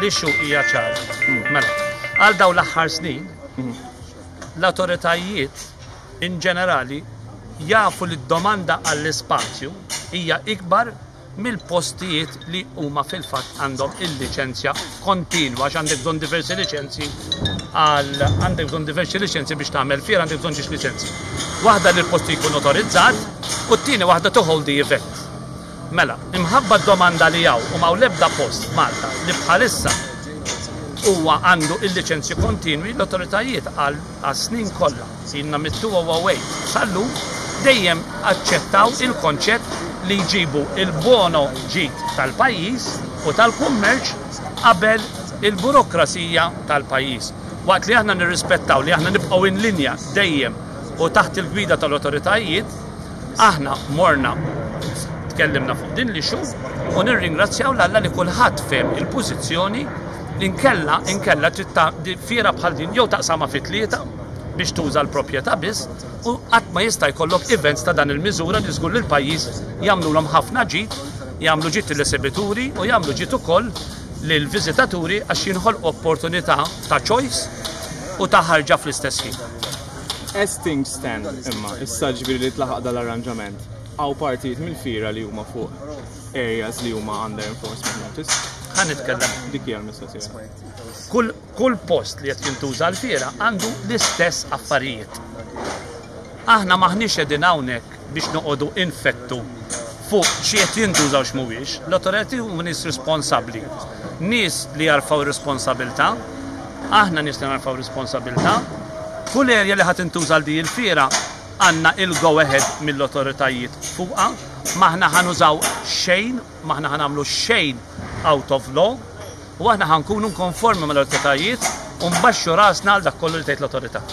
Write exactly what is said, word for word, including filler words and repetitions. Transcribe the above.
L-issue hija ċara. Mela, għal dawn l-aħħar snin, l-autoritajiet in ġenerali jafu li d-domanda għall-ispazju hija ikbar mill-postijiet li huma fil-fatt għandhom il-liċenzja kontinwa, għax għandek bżonn diversi liċenzji għal għandek bżonn diversi liċenzji biex tagħmel fiera, għandek bżonn ġiex liċenzji. Waħda li l-post jkun autorizzat u t-tieni waħda to hold the event. Mela, imħabba d-domanda li hawn u m'hawn l-ebda post Malta li bħalissa huwa għandu il-liċenzji kontinwi, l-autoritajiet għal snin kollha, ilna mit-elfejn u tmienja sal-lum, dejjem aċċettaw il-konċett li jġibu il-buon ġid tal-pajjiż u tal-kummerċ qabel il-burokrazija tal-pajjiż. Waqt li aħna nirrispettaw li aħna nibqgħu in linja dejjem u taħt il-gwida tal-autoritajiet, aħna morna tkellimna fuq din l-issue u nirringrazzjaw 'l Alla li kulħadd fehem il-pożizzjoni. Inkella inkella trid ta' di- fiera bħal din jew taqsama fi tlieta biex tuża l-proprjetà biss u qatt ma jista' jkollok events ta' dan il-miżura li żgur li l-pajjiż jagħmlulhom ħafna ġid, jagħmlu ġid l-esibituri u jagħmlu ġid ukoll lill-viżitaturi għax jinħolqu opportunità ta' choice u ta' ħarġa fl-istess ħin. As things stand, imma, issa ġifieri li tlaħaq dal-arranġament, hawn partijiet mill-fiera li huma fuq areas li huma under enforcement notice? Ħa nitkellem. Dik hija l-mistoqsija. Kull, kull post li qed jintuża l-fiera għandu l-istess affarijiet. Aħna maħniex qegħdin hawnhekk biex noqogħdu infettu fuq xi qed jintużaw x'mhuwiex. L-awtoritajiet huma nies responsabbli. Nies li jarfgħu responsabilità, aħna nies li narfgħu responsabilità. Kull area li ħadd intuża l di il-fiera għandna il-go ahead mill-autoritajiet fuqha, m'aħna ħa nużaw xejn, m'aħna ħa nagħmlu xejn out of law, u aħna ħa nkunu konformi mal-autoritajiet u nbaxxu rasna għal dak kollu li tgħid l-autorità.